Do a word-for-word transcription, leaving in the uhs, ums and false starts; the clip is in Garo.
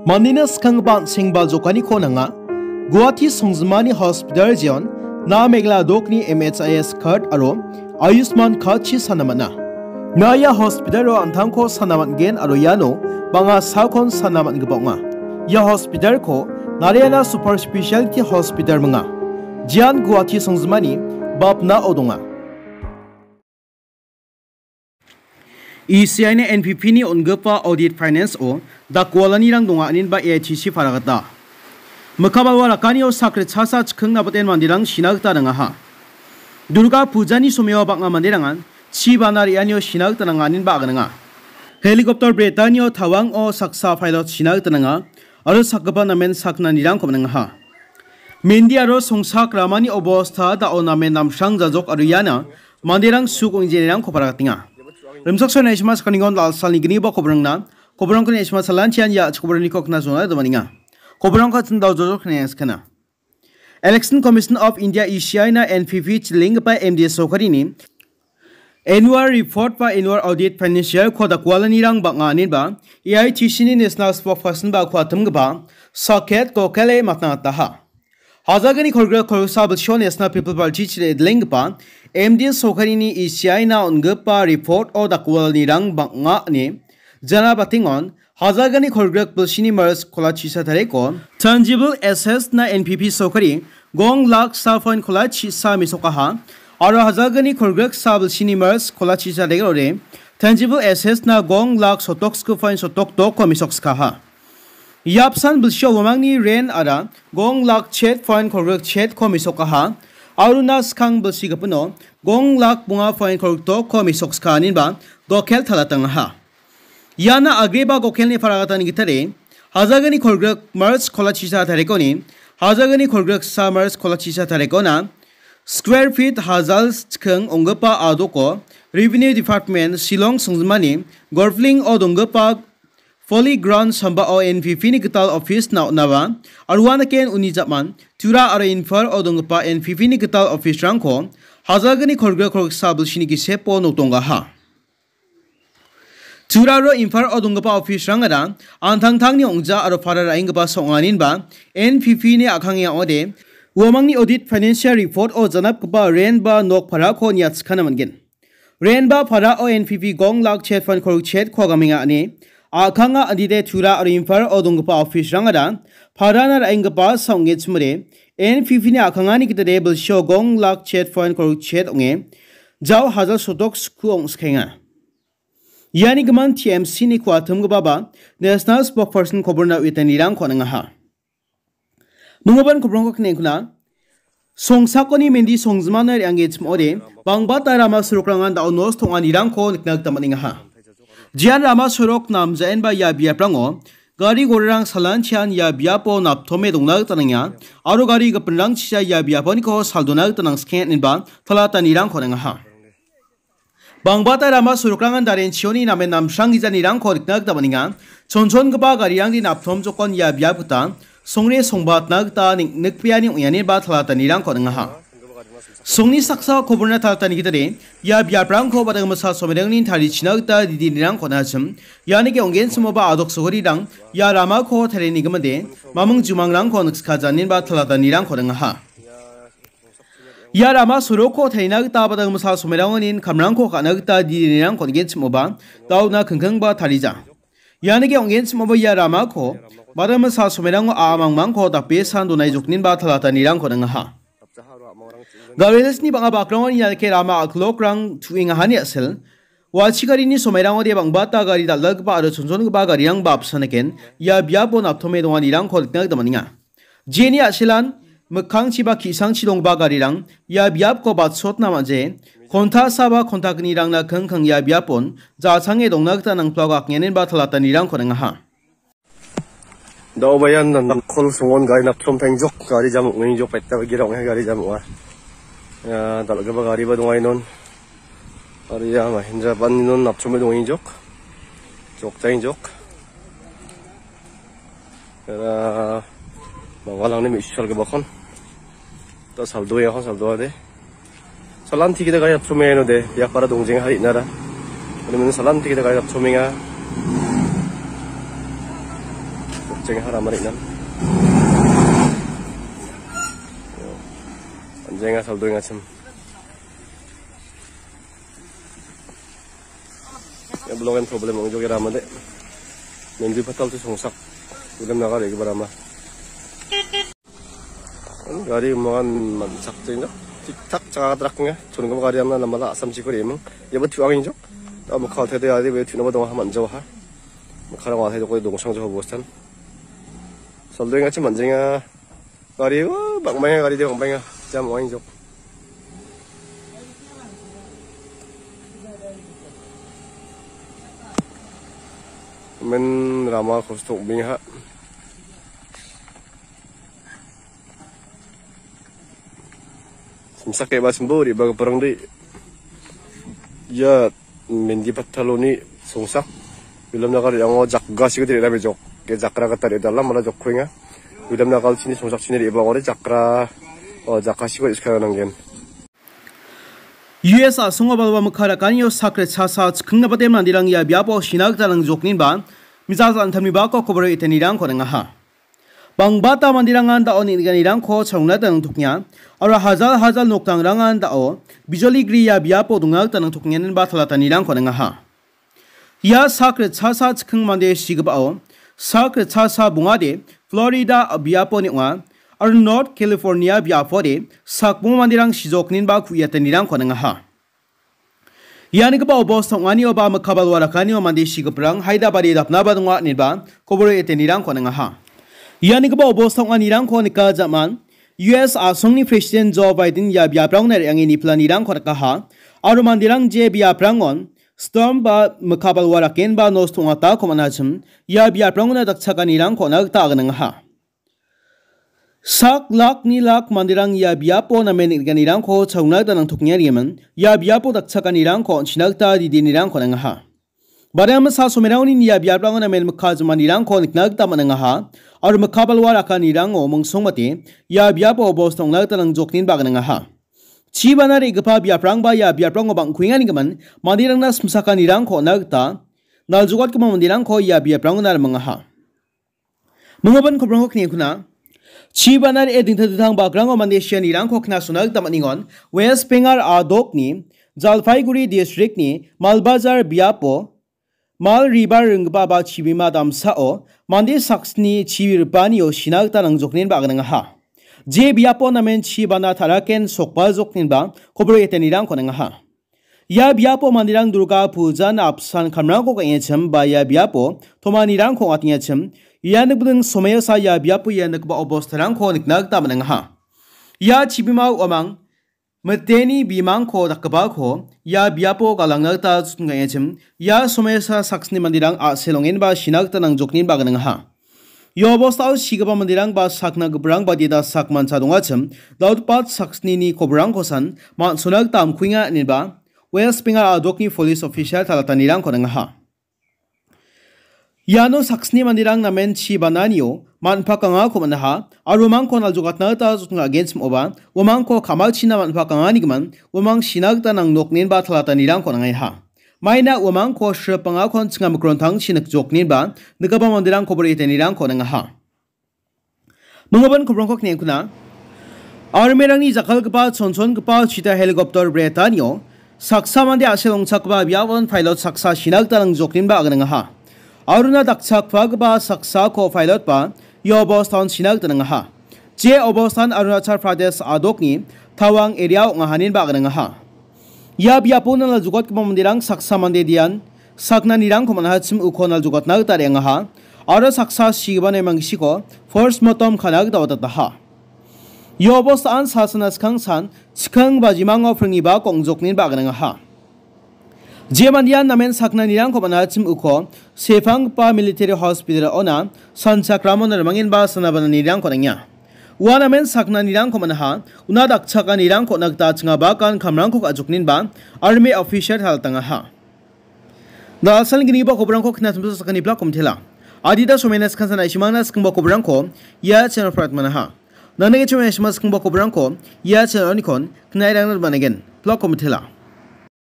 Mandena skanggipa an·sengba jokaniko nanga. Guwahati songjinmani hospital jeon, na Meghalaya dokni M H I S card aro Ayushman card-chi sana man·a. Na ia hospital-o an·tangko sana man·gen aro iano bang·a salkon sana man·gipa ong·a. Ia hospital-ko Narayana Super Specialty Hospital minga. Jeon Guwahati songjinmani bapnao donga. E C I-na N P P-ni on·gipa audit finance-o dakwalanirang donga, aninba A I T C paragata. Mikkabalwa rakanio sak ritchasa chikking nabaten manderang sina gita ringaha. Durga Pujani somio bang·a manderangan chi bana re·anio sina gita nanga, aninba agananga. Helicopter bretanio tawango saksa pilot sina gita nanga, aro sakgipa namen saknanirangko minangaha. Mendi aro songsak ramani obosta dao namen namsrang jajok aro iana manderang suk ong·e jenirangko paragatenga. Rimchaksoa Naishima Sakaningon Lalsalni gniba kobrangna, kobrangko Naishima Salanchian ia chikobrani kokna zona domaninga. Kobrangko chindao jojok kena skana. Election Commission of India E C I-na N P P chilenggipa M D S sorkarini Annual Report ba Annual Audit Financial-ko dakwalanirang bang·a, aninba A I T C-ni National Spokesperson ba kuatimgipa Saket Gokhale matna gitaha. Hajalgni kolgrik kolgsa bilsio National People Party chidenggipa M D S sorkarini E C I-na on·gipa report-o dakwalanirang bang·a ine jana batengon, hajalgni kolgrik bilsini March kolachisa tariko tangible assets-na N P P sorkari gong lak sa point kolachisa mesokaha, aro hajalgni kolgrik sa bilsini March kolachisa tarikode tangible assets-na gong lak sotok sku point sotok dokko mesokskaha. Iapsan bilsio uamangni ren ara gong lak chet point kolgrik chetko mesokaha, aro na skang bilsi gipino gong lak bonga point kolgrik dokko mesokska, aninba Gokhel talatangaha. Iana agreba Gokhelni paragatani gitade, hajalgni kolgrik March kolachisa tarikoni, hajalgni kolgrik sa March kolachisa tarikona, square feet hajal chikking ong·gipa adoko, Revenue Department, Shillong songjinmani, Golfling-o donggipa Polyground sambao N P P-ni gital office-na on·aba, aro uanaken uni jaman, Tura aro Imphal-o donggipa N P P-ni gital office-rangko, hajalgni kolgrik kolgrik sa bilsini gisepo nokdonggaha. Tura aro Imphal-o donggipa office-rangara an·tangtangni ong·ja aro para ra·enggipa song·aninba N P P-ni a·kange ong·ode, uamangni audit financial report-o janapgipa ren ba nok parako niatskana man·gen. Ren ba parao N P P gong lak chet point kolgrik chetko gamenga ine a·kanga, andide Tura aro Imphal-o donggipa office-rangara parana ra·enggipa sa ong·genchimode, N P P-ni a·kangani gitade bilsio gong lak chet point kolgrik chet ong·e, jao hajal sotok sku ong·skaenga. Iani gimin T M C-ni kuatimgipaba National Spokesperson koborna uitanirangko on·angaha. Minggipan kobrangko knekkuna, songsakoni mendi songjimano re·anggenchim ong·ode, bangbata rama sorokrangan da·o nosto ong·anirangko nikna gita man·engaha. Jean rama sorok namjaenba ia biaprango gari gorarang salanchian ia biapo naptome dongna gita nangenga, aro gari gipinrangchija ia biaponiko saldona gita nangskeng inba talatanirangko on·angaha. Bangbata rama sorokrangan darenchioni namen namsrang gijanirangko nikna gita man·enga. Chonchongipa garirangni naptom jokon ia biap gita songre songbatna gita ning-, nikbeani ong·e ine ba talatanirangko on·angaha. Songni saksa koborna talatani gitade, ia biaprangko badangmisa somerangni tarichina gita didinirangko on·achim. Ianike ong·genchimoba adok sogorirang ia ramako tarienigimade, maming jumangrangko nikskajanin ba talatanirangko on·angaha. Ia rama sorokko tarina gita badangmisa somerangoni kamrangko ka·na gita didinirangko on·genchimoba, da·ona kingkingba tarija. Ianike ong·genchimoba ia ramako badangmisa somerango a·a mangmangko dape san donai jokninba talatanirangko on·angaha. Gari resni bang·a bakrangoni ianike rama a·kilokrang tu·engahani a·sel. Wachi garini somerangode bangbata gari dal·dalgipa aro chonchongipa garirangba apsan eken ia biapo naptome donganirangko nikna gita man·enga. Jeni a·selan mikkangchi ba ki·sangchi donggipa garirang ia biapko batsotna man·je, konta sa ba konta gnirangna kingking ia biapon ja·change dongna gita nangplako akngenenba talatanirangko on·angaha. Da·oba ian nan kol songon gari naptrom tangjok, gari jam ong·engjok, petta bagira ong·e gari jam ong·a. Ia dal·gipa gariba donga inon. Aro ia Mahindra ban inon naptrome dongengjok. Jok tangjok. Era mangalangni me·su salgipakon. Da saldoe, ako saldoade. Salanti kita gari naptromenga ino de, biapara dongjeng hari inara. Ini mena salanti kita gari naptromenga. Jenga rama re·nang. Jenga saldoengachim. Ia blogan problem ong·joke rama de. Mendi patal tu songsak. Udah nagar ya barama. Gari umangan man·chakjengja. Tik tak chakatraknga. Chongipa gari amna nambala Assam chiko re·eming. Iaba tu·angenjok. Amo kal tede ari be tu·naba donga man·jawaha. Makarang wa tede koi dongsang jawa bostan. Saldoengachim man·jenga. Gari, oh, bang·baenga gari de bang·baenga. Jam ong·engjok. Men rama kosto ong·bengha. Simsak eba simbo riba giparangde. Ia Mendi pataloni songsak. Bilam nagar re·ango jakgasiko de·rame jok. Ke jakra gita re·dala mala jokkoenga. Bilam nagal chini songsak chini re·bangore jakra, o, jakasiko iskana nanggen. U S a·songo balwa mikha rakanio sakre chasa chikingna bate mandirang ia biapo sina gita nangjokninba, misa antamni bako koboro etenirangko ringaha. Bangbata mandirangan da·o neng·nikanirangko chalongna nangtoknga, aro hajal hajal nokdangrangan da·o bijoli gri ia biapo dongna gita nangtokngenba talatanirangko ringaha. Ia sak ritchasa chikking mande sigipao sak ritchasa bongade Florida biaponi ong·a, aro North California biapode sakbonga manderang sijokninba ku·iatanirangko ringaha. Ianigipa obosta ong·anioba mikabal warakanio mande sigiprang haida bari dapnaba donga ineba koboro etenirangko ringaha. Ianigipa obosta ong·anirangko nika jaman U S a·songni President Joe Biden ia biaprangna re·ange nipilanirangko rikaha, aro manderang je biaprangon storm ba mikabal warakenba nosto ong·atako man·achim, ia biaprangona dakchakanirangko on·a gita aganangaha. Sak lakni lak manderang ia biapo namen neng·nikanirangko chalongna gita nangtokengariaman, ia biapo dakchakanirangko on·china gita didenirangko nangaha. Badiamasa somerangoni ia biaprango namen mikka jimanirangko nikna gita man·angaha, aro mikka balwa rakanirango mongsongmate ia biapo obosta ong·na gita nangjokninba aganangaha. Chibana re·gipa biaprangba ia biaprango bang·kuenganigimin manderangna simsakanirangko on·na gita naljogatgipa manderangko ia biaprangona rimangaha. Minggipa kobrangko kniengkuna. Chibana re·e dingtang dingtang bakrango mande sianirangko knasona gita man·engon. West Bengal a·dokni Jalpaiguri districtni Malbazar biapo Mal River ringgipa ba chibima damsao mande saksni chi ripanio sina gita nangjoknenba aganangaha. Je biapo namen chibana taraken sokbaljoknenba koboro etenirangko nangaha. Ia biapo manderang Durga Pujan apsan kamrangko ka·engachim ba ia biapo tomanirangko ong·atengachim, ia nikbiding somoiosa ia biapo ia nikgipa obostarangko nikna gita man·angaha. Ia chibima uamang miteni bimangko dakgipako ia biapo galangna gita ka·engachim, ia somoiosa saksni manderang a·selongenba sina gita nangjokninba aganangaha. Ia obostao sigipa manderang ba sakna giprang ba deda sak mancha dongachim, dautpat saksnini kobrangkosan man·sona gita amkuenga ineba West Bengal a·dokni police official talatanirangko nangaha. Iano saksni manderang namen chi bananio man·pakangako man·aha, aro uamangko naljogatna gita jotna agenchim oba, uamangko ka·machina man·pakanganigimin, uamang sina gita nangnoknenba talatanirangko nangaiha. Maina uamangko sripangakon chinga mikrontangchi nikjoknenba, nikgipa manderang kobor etenirangko nangaha. Minggipa kobrangko kniengkuna. Armerangni jakkalgipa chonchongipa chita helicopter bretanio saksa mande a·sel ongchakgipa biapon pilot saksa sina gita nangjoknenba aganangaha. Aruna dakchakgipa saksako pilot ba ia obostaon sina gita nangaha. Je obostan Arunachal Pradesh a·dokni Tawang area ong·ahaninba aganangaha. Ia biapo naljogatgipa manderang saksa mande dian saknanirangko man·achim uko naljogatna gita re·angaha, aro saksa sigipa nemanggisiko post mortem ka·na gita watataha. Ia obostaan sasana skangsan chikang ba jimango pringniba ong·joknenba aganangaha. Je mandean namen saknanirangko man·achim uko sepanggipa military hospital-ona sanchakramon rimangenba sana bananirangko nangenga. Ua namen saknanirangko man·aha, una dakchakanirangko on·a gita chinga bakan kamrangko ka·joknenba army official talatangaha. Na·a salginiba kobrangko knatimsa sakani plak komtela. Adita somena skansa na·simangna skingba kobrangko ia channel prat manaha. Nangni channel na·sima skingba kobrangko ia channel onikon knairangna managen. Plak komtela.